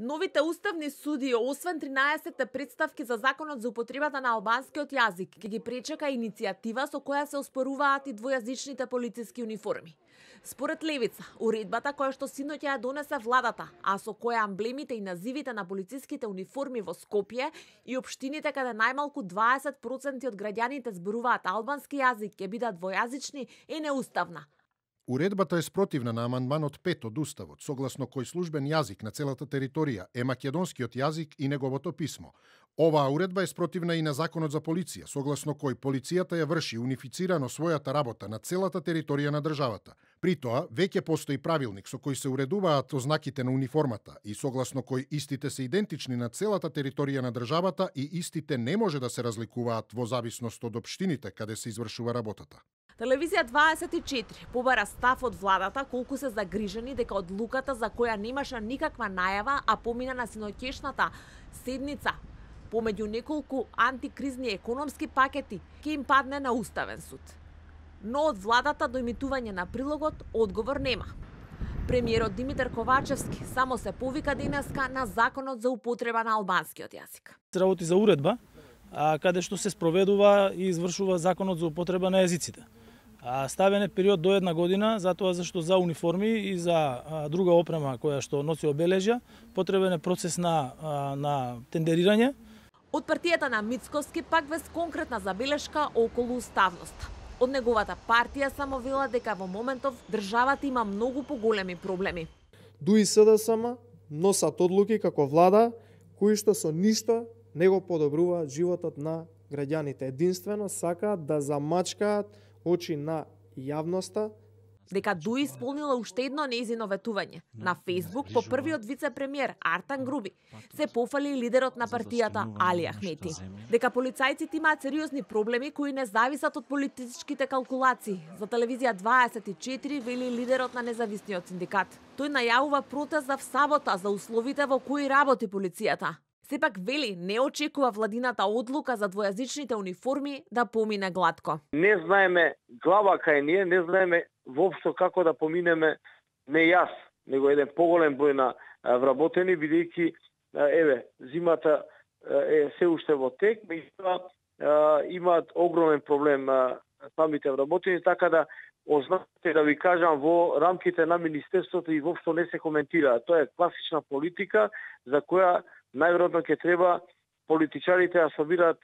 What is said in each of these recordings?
Новите уставни суди, освен 13 представки за законот за употребата на албанскиот јазик, ќе ги пречека иницијатива со која се оспоруваат и двојазичните полициски униформи. Според Левица, уредбата која што синоќа ја донесе владата, а со која амблемите и називите на полициските униформи во Скопје и општините каде најмалку 20% од граѓаните зборуваат албански јазик ќе бидат двојазични, е неуставна. Уредбата е спротивна на амандманот 5 од Уставот, согласно кој службен јазик на целата територија е македонскиот јазик и неговото писмо. Оваа уредба е спротивна и на Законот за полиција, согласно кој полицијата ја врши унифицирано својата работа на целата територија на државата. При тоа, веќе постои правилник со кој се уредуваат ознаките на униформата и согласно кој истите се идентични на целата територија на државата и истите не може да се разликуваат во зависност од општините каде се извршува работата. Телевизија 24 побара став од владата колку се загрижени дека одлуката за која немаше никаква најава, а помина на синоќешната седница помеѓу неколку антикризни економски пакети, ќе им падне на Уставен суд. Но од владата до емитување на прилогот одговор нема. Премиерот Димитар Ковачевски само се повика денеска на законот за употреба на албанскиот јазик. Работи за уредба, каде што се спроведува и извршува законот за употреба на јазиците. Ставен е период до 1 година, затоа зашто за униформи и за друга опрема која што носи обележја, потребен е процес на тендерирање. Од партијата на Мицковски пак без конкретна забелешка околу уставноста. Од неговата партија само вела дека во моментов државата има многу поголеми проблеми. ДУИ СДСМ носат одлуки како влада кои што со ништо не го подобруваат животот на граѓаните. Единствено сакаат да замачкаат очи на јавноста. Дека ДУИ исполнила уште едно нејзино ветување. На Фејсбук по првиот вице-премиер Артан Груби се пофали лидерот на партијата Али Ахмети. Дека полицајците имаат сериозни проблеми кои не зависат од политичките калкулации. За телевизија 24 вели лидерот на независниот синдикат. Тој најавува протест в сабота за условите во кои работи полицијата. Сепак вели не очекува владината одлука за двојазичните униформи да помине глатко. Не знаеме глава кај ние, не знаеме воопшто како да поминеме не јас, него еден поголем број на вработени, бидејќи зимата е се уште во тек, меѓутоа имаат огромен проблем самите вработени, така да ознаките да ви кажам во рамките на министерството и воопшто не се коментира. Тоа е класична политика за која најверојатно ќе треба политичарите да собираат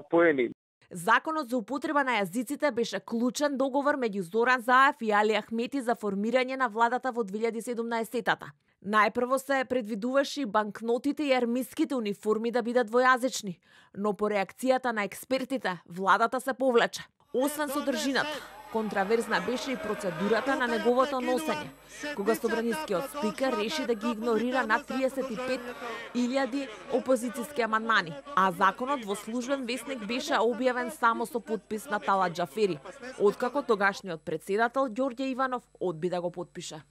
поени. Законот за употреба на јазиците беше клучен договор меѓу Зоран Заев и Али Ахмети за формирање на владата во 2017-тата. Најпрво се предвидуваше банкнотите и армиските униформи да бидат двојазични, но по реакцијата на експертите, владата се повлече. Освен содржината, контраверзна беше и процедурата на неговото носење, кога собранискиот спикер реши да ги игнорира над 35.000 опозициски амандмани, а законот во службен весник беше објавен само со подпис на Талат Џафери, откако тогашниот претседател Ѓорѓе Иванов одби да го потпише.